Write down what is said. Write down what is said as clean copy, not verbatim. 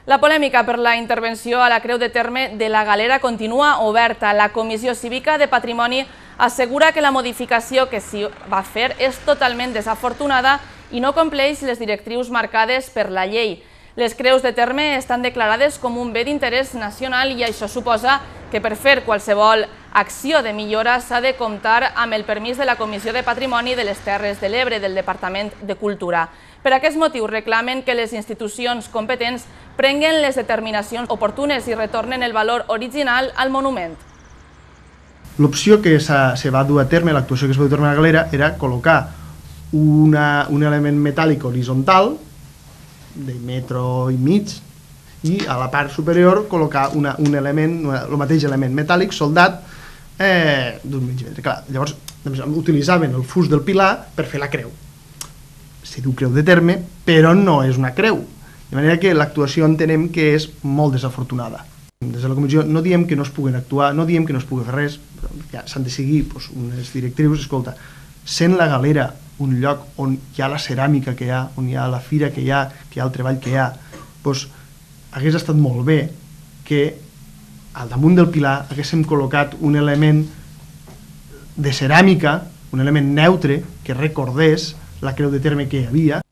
La polèmica per la intervenció a la Creu de Terme de la Galera continua oberta. La Comissió Cívica de Patrimoni assegura que la modificació que s'hi va fer és totalment desafortunada i no compleix les directrius marcades per la llei. Les creus de terme estan declarades com un bé d'interès nacional i això suposa que per fer qualsevol acció de millora s'ha de comptar amb el permís de la Comissió de Patrimoni de les Terres de l'Ebre del Departament de Cultura. Per aquest motiu reclamen que les institucions competents prenguen les determinacions oportunes i retornen el valor original al monument. L'opció que se va dur a terme, l'actuació que es va dur a terme a la Galera, era col·locar un element metàl·lic horitzontal de metro i mig i a la part superior col·locar un element, el mateix element metàl·lic soldat d'un mig metre. Clar, llavors utilitzaven el fust del pilar per fer la creu. Se diu creu de terme, però no és una creu. De manera que l'actuació entenem que és molt desafortunada. Des de la comissió no diem que no es puguin actuar, no diem que no es pugui fer res, però s'han de seguir unes directrius. Escolta, sent la Galera un lloc on hi ha la ceràmica que hi ha, on hi ha la fira que hi ha el treball que hi ha, doncs hagués estat molt bé que al damunt del pilar haguéssim col·locat un element de ceràmica, un element neutre que recordés la creu de terme que hi havia